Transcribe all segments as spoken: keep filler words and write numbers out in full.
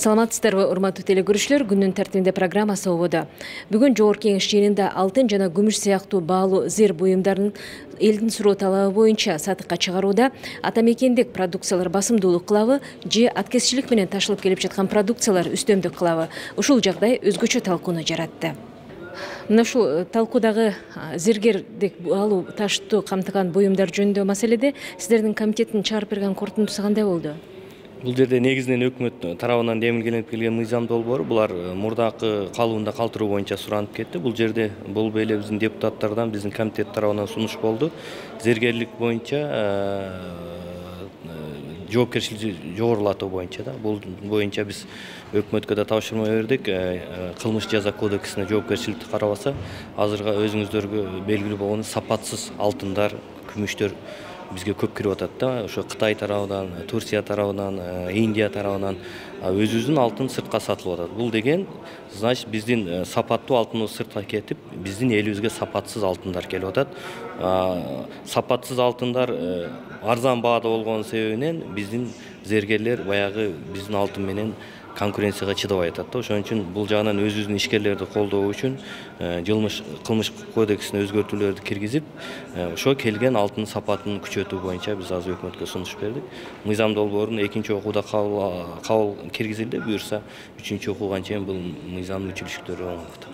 Саламатсыздарбы, урматтуу телекөрүүчүлөр, күндүн тартибинде программасы ободо. Бүгүн Жогорку Кеңеш жыйынында алтын жана күмүш сыяктуу баалуу зер буюмдарын элдин суроо талабы боюнча сатыкка чыгарууда атамекендик продукциялар басымдуулук кылабы же аткезчилик менен ташылып келип жаткан продукциялар үстөмдүк кылабы? Ушул жагдай өзгөчө талкууну жаратты. Мына ушул талкуудагы зергердик баалуу таштуу камтыган буюмдар жөнүндө маселеде сиздердин комитеттин чыгарып берген корутундусу кандай болду? Бул жерде негизинен өкмөт тарабынан демилгеленип келген мыйзам долбоору булар мурдакы калыбында калтыруу боюнча суранып кетти. Бул жерде бул эле биздин депутаттардан, биздин комитет тарабынан сунуш болду. Зергерлик боюнча жоопкерчиликти жогорулатуу боюнча да. Бул боюнча биз өкмөткө да тапшырма бердик. Кылмыш жаза кодексине жоопкерчиликти карабаса, азыркы өзүңүздөргө белгилүү болгон сапатсыз алтындар, күмүштөр бизге көп кирип атат да. Ошо Кытай тарабынан, Турция тарабынан, Индия тарабынан өзүбүздүн алтын сыртка сатылып атат. Бул деген, значит, биздин сапаттуу алтыныбыз сыртка кетип, биздин элибизге сапатсыз алтындар келип атат. Сапатсыз алтындар арзан баада болгон себебинен биздин зергерлер баягы биздин алтын менен конкуренцияга чыдабай атат да. Ошон үчүн бул жагынан өзүбүздүн ишкерлерди колдоо үчүн жылмыш кылмыш кодексине өзгөртүүлөрдү киргизип, ошо келген алтын сапатын күчөтүү боюнча биз азыр өкмөткө сунуш бердик. Мыйзам долбоорун экинчи окууда кабыл киргизилди. Буюрса, үчүнчү окууга чейин бул мыйзамдын мүчүлүштөрү оңолот.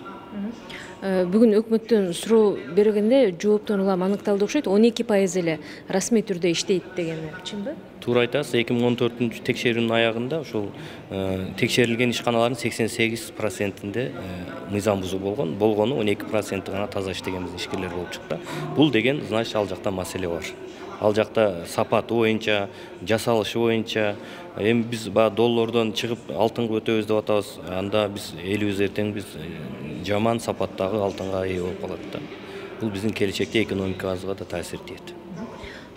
Бүгүн өкмөттөн суроо бергенде жооптон улам аныкталды окшойт. он эки пайыз эле расмий түрдө иштейт дегени чынбы? Туура айтасыз. эки миң он төртүнчү текшерүүнүн аягында ушул текшерилген ишканалардын сексен сегиз процентинде мыйзам бузуу болгон. Болгону он эки проценти гана таза иштеген биздин ишкерлер болуп чыкты. Бул деген, значит, ал жакта маселе бар. Ал жакта сапаты боюнча, жасалышы боюнча, эми биз баягы доллордон чыгып алтынга өтөбүз деп атабыз. Анда биз элибиз эртең биз жаман сапаттагы алтынга ээ болуп калат да. Бул биздин келечекте экономикабызга да таасир этет.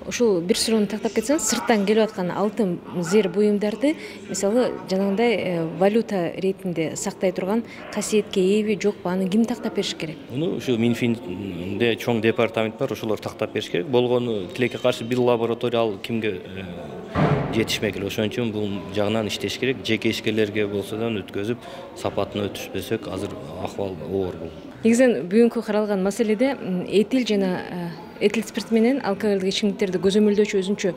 Ошол бир суроону тактап кетсеңиз, сырттан келип аткан алтын зер буюмдарды, мисалы, жанагындай валюта ретинде сактай турган касиетке ээби жокпу, аны ким тактап бериш керек? Муну ушу Минфинде чоң департамент бар, ошолор тактап бериш керек. Болгону тилекке каршы бир лаборатория ал кимге жетишмек эле. Ошон үчүн бул жагынан иштеш керек. Жеке ишкерлерге болсо да өткөзүп, сапатын өтүшпөсөк, азыр акыбал оор бул. Негизинен бүгүнкү каралган маселеде этил жана этил спирт менен алкоголдук ичимдиктерди көзөмөлдөөчү өзүнчө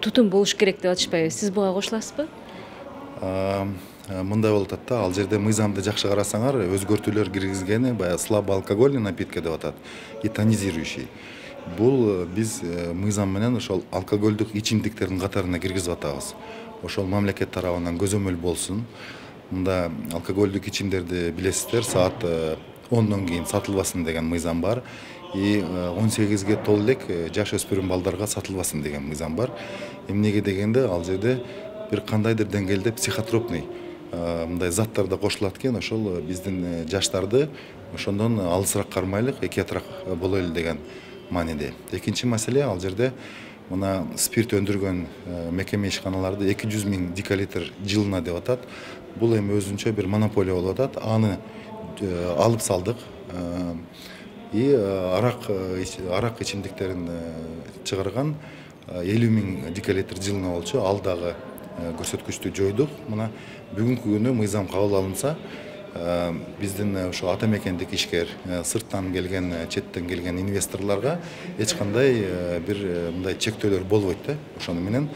тутум болуш керек деп атышпайбы? Сиз буга кошуласызбы? Мындай болуп атат да, ал жерде мыйзамды жакшы карасаңар, өзгөртүүлөр киргизгени баягы слабоалкогольный напитка деп атат, и тонизирующий. Бул биз мыйзам менен ошол алкоголдук ичимдиктердин катарына киргизип атабыз. Ошол мамлекет тарабынан көзөмөл болсун. Мында алкоголдук ичимдерди билесиздер, саат ондон кийин сатылбасын деген мыйзам бар. И он сегизге толо элек жаш өспүрүм балдарга сатылбасын деген мыйзам бар. Эмнеге дегенде, ал жерде бир кандайдыр деңгээлде психотропный мындай заттар да кошулат экен, ошол биздин жаштарды ошондон алысыраак кармайлык, экиятыраак бололу деген мааниде. Экинчи маселе, ал жерде мына спирт өндүргөн мекеме ишканаларды эки жүз миң декалитр жылына деп атат. Бул эми өзүнчө бир монополия болуп атат. Аны алып салдык. И арак арак ичимдиктерин чыгарган элүү миң декалитр жылына болчу. Ал дагы көрсөткүчтү жойдук. Мына бүгүнкү күнү мыйзам кабыл алынса, биздин ошо атамекендик ишкер, сырттан келген, четтен келген инвесторлорго эч кандай бир мындай чектөөлөр болбойт да. Ошону менен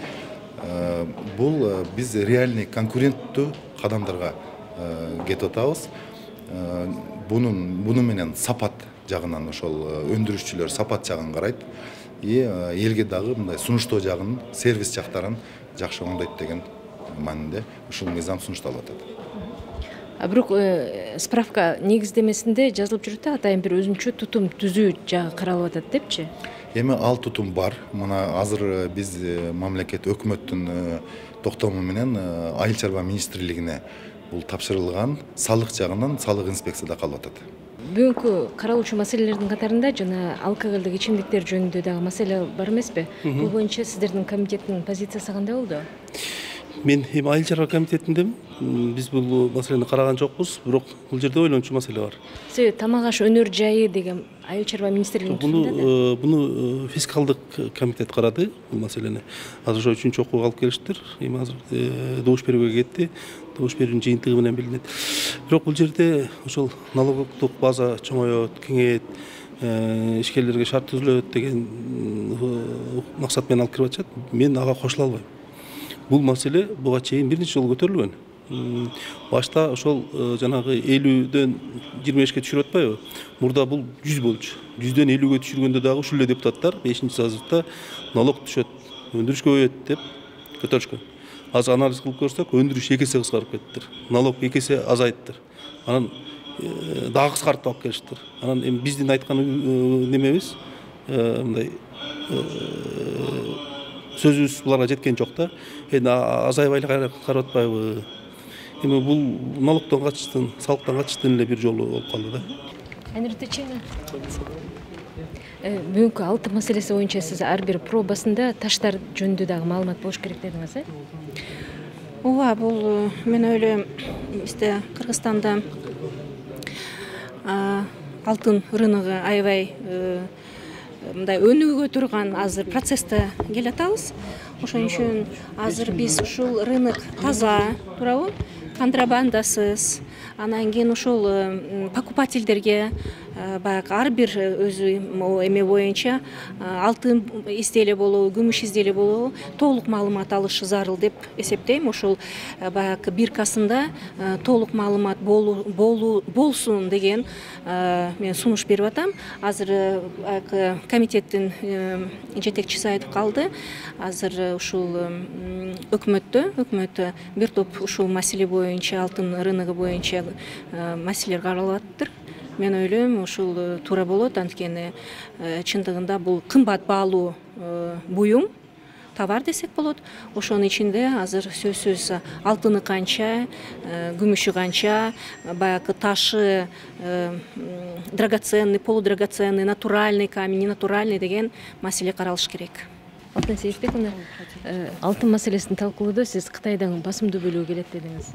бул биз реальный конкуренттүү кадамдарга кетип атабыз. Бунун буну менен сапат жагынан ошол өндүрүшчүлөр сапат жагын карайт. И элге дагы мындай сунуштоо жагын, сервис жактарын жакшы оңдойт деген маанинде ушул мыйзам сунушталып атат. А бирок справка негиздемесинде жазылып жүрөт да, атайын бир өзүнчө тутум түзүү жагы каралып атат депчи? Эми ал тутум бар. Мына азыр биз мамлекет өкмөттүн токтому менен Айыл чарба министрлигине бул тапшырылган, салык жагынан салык инспекцияда калып атат. Бүгүнкү каралуучу маселелердин катарында жана алкоголдук ичимдиктер жөнүндө дагы маселе бар эмеспи? Бул боюнча сиздердин комитеттин позициясы кандай болду? Мен эми айыл чарба комитетиндемин. Биз бул маселени караган жокпуз, бирок бул жерде ойлончу маселе бар. Себеби тамак аш өнөр жайы деген айыл чарба министрлигинин Буну буну фискалдык комитет карады бул маселени. Азыр ошо үчүнчү окууга алып келиштир. Эми азыр добуш берүүгө кетти. Добуш берүүнүн жыйынтыгы менен билинет. Бирок бул жерде ошол налогдук база чоңоет, кеңейет, ишкерлерге шарт түзүлөт деген максат менен алып кирип атышат. Мен ага кошула албайм. Бул маселе буга чейин бир нече жолу көтөрүлгөн. Башта ошол жанагы элүүдөн жыйырма бешке түшүрүп атпайбы? Мурда бул жүз болчу. жүздөн элүүгө түшүргөндө дагы ушул эле депутаттар бешинчи созывда налог түшөт, өндүрүш көбөйөт деп көтөрүшкөн. Азыр анализ кылып көрсөк, өндүрүш эки эсе кыскарып кеттир. Налог эки эсе азайттыр. Анан дагы кыскартып алып келиштир. Анан эми биздин айткан немебиз мындай сөзүбүз буларга жеткен жок да. Эми азайбай эле карап атпайбы? Эми бул налогдон качыштын, салыктан качыштын эле бир жолу болуп калды да. Аниртечена. Бүгүнкү алтын маселеси боюнча сиз ар бир пробасында таштар жөнүндө дагы маалымат болуш керек дедиңиз, э? Ооба, бул мен ойлойм, бизде Кыргызстанда алтын рыногу аябай мындай өнүгө турган азыр процессте келатабыз. Ошон үчүн азыр биз ушул рынок таза, туурабы? Контрабандасыз, анан кийин ошол покупательдерге баягы ар бир өзү эме боюнча алтын изделие болобу, күмүш изделие болобу толук маалымат алышы зарыл деп эсептейм. Ошол баягы биркасында толук маалымат болсун деген мен сунуш берип атам. Азыр баягы комитеттин жетекчиси айтып калды. Азыр ушул өкмөттө, өкмөттө бир топ ушул маселе боюнча, алтын рыногу боюнча маселелер каралып атыптыр. Мен ойлойм, ушул туура болот, анткени чындыгында бул кымбат баалуу буюм, товар десек болот. Ошонун ичинде азыр сөзсүз алтыны канча, күмүшү канча, баягы ташы драгоценный, полудрагоценный, натуральный камень, ненатуральный деген маселе каралыш керек. Алтын Сейитбековна, алтын маселесин талкуулоодо сиз Кытайдан басымдуу бөлүү келет дедиңиз.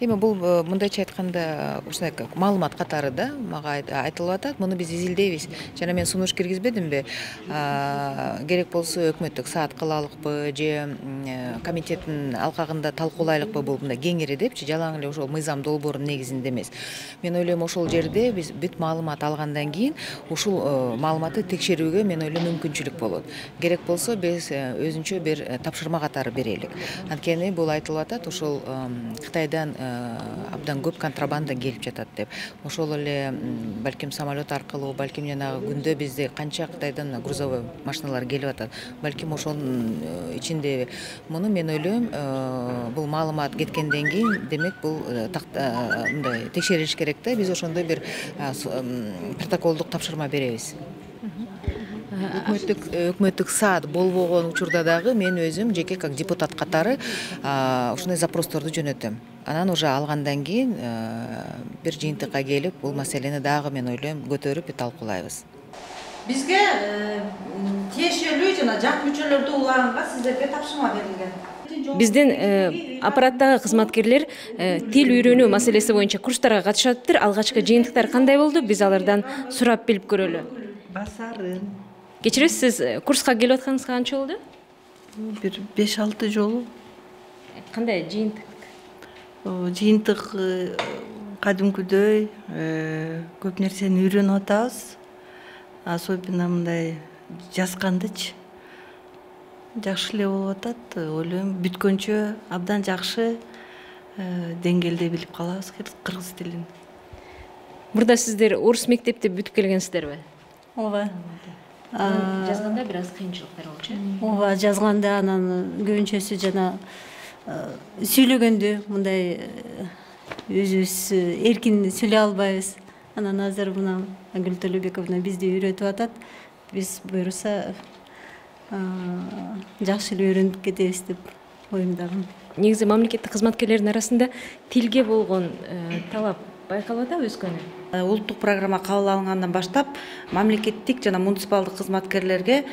Эми бул мындайча айтканда ушундай маалымат катары да мага айтылып атат. Муну биз изилдейбиз. Жана мен сунуш киргизбедимби? Керек болсо өкмөттүк саат кылалыкпы же комитеттин алкагында талкуулайлыкпы бул мындай кеңири депчи, жалаң эле ошол мыйзам долбоорунун негизинде эмес. Мен ойлойм, ошол жерде биз бүт маалымат алгандан кийин ушул маалыматты текшерүүгө мен ойлойм мүмкүнчүлүк болот. Керек болсо биз өзүнчө бир тапшырма катары берелик. Анткени бул айтылып атат, ошол Кытайдан абдан көп контрабанда келип жатат деп. Ошол эле балким самолет аркылуу, балким жанагы күндө бизде канча Кытайдан грузовой машиналар келип атат. Балким ошонун ичинде муну мен ойлойм, бул маалымат кеткенден кийин, демек бул мындай текшерилиш керек да. Биз ошондой бир протоколдук тапшырма беребиз. Өкмөттүк өкмөттүк саат болбогон учурда дагы мен өзүм жеке как депутат катары ушундай запросторду жөнөтөм. Анан уже алгандан кийин бир жыйынтыкка келип, бул маселени дагы мен ойлойм көтөрүп талкуулайбыз. Бизге тиешелүү жана жак мүчөлөрдү улаганга сиздерге тапшырма берилген. Биздин аппараттагы кызматкерлер тил үйрөнүү маселеси боюнча курстарга катышатыптыр. Алгачкы жыйынтыктар кандай болду? Биз алардан сурап билип көрөлү. Басарын. Кечиресиз, сиз курска келип атканыңызга канча болду? Бир беш алты жолу. Кандай жыйынтык? Жыйынтык кадимкүдөй көп нерсени үйрөнүп атабыз. Особенно мындай жазгандычы жакшы эле болуп атат. Ойлойм, бүткөнчө абдан жакшы деңгээлде билип калабыз кыргыз тилин. Мурда сиздер орус мектепти бүтүп келгенсиздерби? Ооба. Жазганда бир аз кыйынчылыктар болчу. Ооба, жазганда анан көбүнчөсү жана сүйлөгөндө мындай өзүбүз эркин сүйлөй албайбыз. Анан азыр мына Ангүл Төлөбековна бизди үйрөтүп атат. Биз буюрса жакшы эле үйрөнүп кетебиз деп оюмдагам. Негизи мамлекеттик кызматкерлердин арасында тилге болгон талап байкалып атабы өскөнү? улуттук программа кабыл алынгандан баштап мамлекеттик жана муниципалдык кызматкерлерге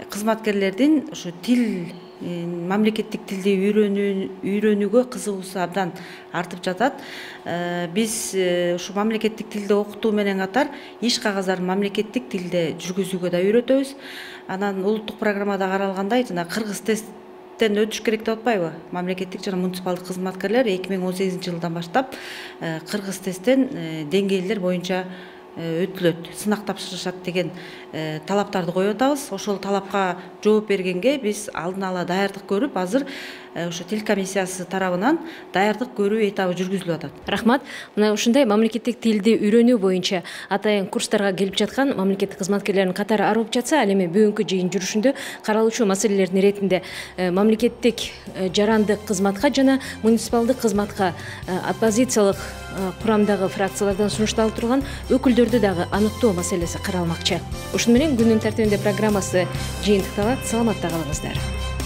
кызматкерлердин ушу тил мамлекеттик тилди үйрөнүүгө кызыгуусу абдан артып жатат. Биз ушу мамлекеттик тилди окутуу менен катар иш кагаздарын мамлекеттик тилде жүргүзүүгө да үйрөтөбүз. Анан улуттук программада каралгандай жана кыргыз тесттен өтүш керек деп атпайбы? Мамлекеттик жана муниципалдык кызматкерлер эки миң он сегизинчи жылдан баштап кыргыз тесттен деңгээлдер боюнча өтүлөт, сынак тапшырышат деген талаптарды коюп атабыз. Ошол талапка жооп бергенге биз алдын ала даярдык көрүп, азыр ошо тил комиссиясы тарабынан даярдык көрүү этабы жүргүзүлүп атат. Рахмат. Мына ушундай мамлекеттик тилди үйрөнүү боюнча атайын курстарга келип жаткан мамлекеттик кызматкерлердин катары арып жатса, ал эми бүгүнкү жыйын жүрүшүндө каралуучу маселелердин иретинде мамлекеттик жарандык кызматка жана муниципалдык кызматка оппозициялык курамдагы фракциялардан сунушталып турган өкүлдөрдү дагы аныктоо маселеси каралмакчы. Ушуну менен күндүн тартибинде программасы жыйынтыкталат. Саламатта калыңыздар.